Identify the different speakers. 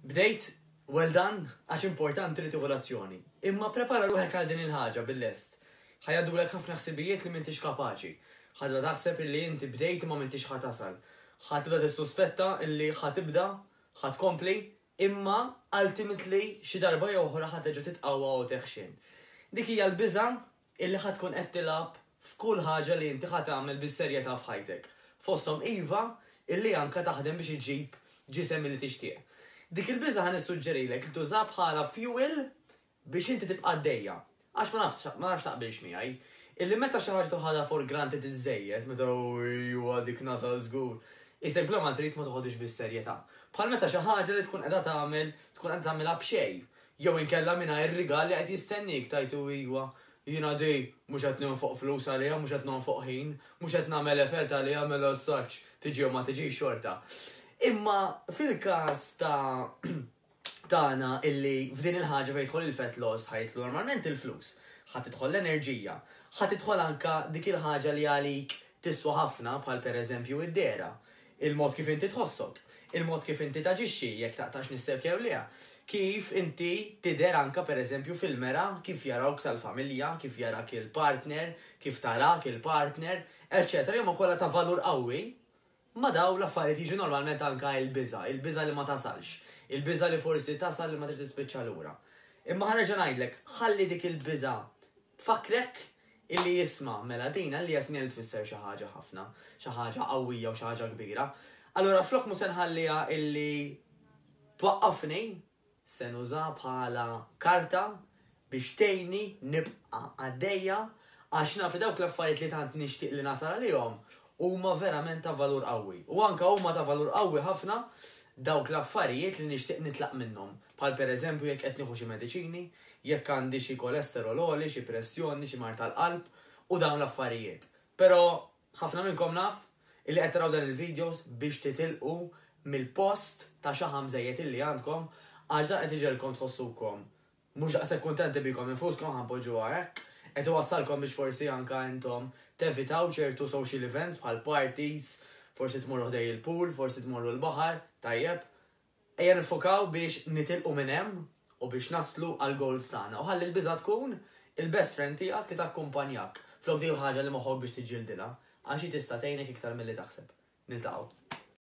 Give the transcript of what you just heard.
Speaker 1: Bdejt? Well done, għax importanti li tieħu l-azzjoni. Imma prepara ruħek għal din il-ħaġa bil-lest. Ħa jgħaddulek ħafna ħsibijiet li m'intix kapaċi. Ħa tibda taħseb illi inti bdejt imma m'intix ħa tasal. Ħa tibda tissuspetta illi ħa tibda, ħa tkompli, imma ultimately xi darba jew oħra ħa terġa' titqawwa u teħxien. Dik hija l-biża' illi ħa tkun qed tilgħab f'kull ħaġa li inti ħa tagħmel bis-serjetà f'ħajtek. Fosthom iva, illi anka taħdem biex iġġib ġisem illi tixtieq. Dik il-biża' ħa nissuġġerilek li tużaha bħala fuel biex inti tibqa' għaddejja. Għax ma nafx, ma nafx taqbilx miegħi, illi meta xi ħaġa toħodha for granted iżżejjed, meta ejwa dik nasal żgur, qisek bla ma trid ma toħodhiex bis-serjetà. Bħal meta xi ħaġa li tkun qiegħda tagħmel, tkun qiegħda tagħmilha b'xejn, Jew inkella mingħajr rigal li qed jistenniek tgħid u iwa, jiena di mhux qed nonfoq flus għaliha, mhux qed nonfoq ħin, mhux qed nagħmel effort għaliha mela as such tiġi jew ma tiġix xorta. Imma fil-każ ta' tagħna illi f'din il-ħaġa fejn jidħol il-fat loss ħa jidħlu normalment il-flus, ħa tidħol l-enerġija, ħa tidħol anke dik il-ħaġa li għalik tiswa ħafna bħal pereżempju id-dehra. Il-mod kif inti tħossok, il-mod kif inti taġixxi, jekk taqtax nissek jew le, kif inti tidher anke pereżempju fil-mera, kif jarawk tal-familja, kif jarak il-partner, kif tarak il-partner, eċċetera li huma kollha ta' valur qawwi, ma' dawn l-affarijiet jiġu normalment anke il-biża', il-biża' li ma tasalx, il-biża' li forsi tasal imma terġa' tispiċċa lura. Imma ħa nerġa' ngħidlek, ħalli dik il-biża' tfakkrek Illi jisma', mela din għalija sinjal li tfisser xi ħaġa ħafna, xi ħaġa qawwija u xi ħaġa kbira. Allura flok mhu se nħalliha illi twaqqafni, se nużaha bħala karta biex tgħinni nibqa' għaddejja għax naf li dawk l-affarijiet li tant nixtieq li nasal għalihom huma verament ta' valur qawwi. U anke huma ta' valur qawwi ħafna dawk l-affarijiet li nixtieq nitlaq minnhom, bħal pereżempju jekk qed nieħu xi mediċini, jekk għandi xi kolesterol għoli, xi pressjoni, xi mard tal-qalb u dawn l-affarijiet. Però ħafna minnkom naf illi qed taraw dan il-videos biex titilqu mill-post ta' xaħam żejjed illi għandkom għax dan qed iġegħelkom tħossukom mhux daqshekk kuntenti bikom infuskom ħa npoġġuha hekk, qed iwassalkom biex forsi anke intom tevitaw ċertu social events bħal parties, forsi tmorru ħdej il-pool, forsi tmorru l-baħar, tajjeb. Ejja niffokaw biex nitilqu minn hemm u biex naslu għall-goals tagħna. U ħalli l-biża' tkun il-best friend tiegħek li takkumpanjak flok dik il-ħaġa li moħħok biex tiġġieldilha, għax hi tista' tgħinek iktar milli taħseb. Niltaqgħu.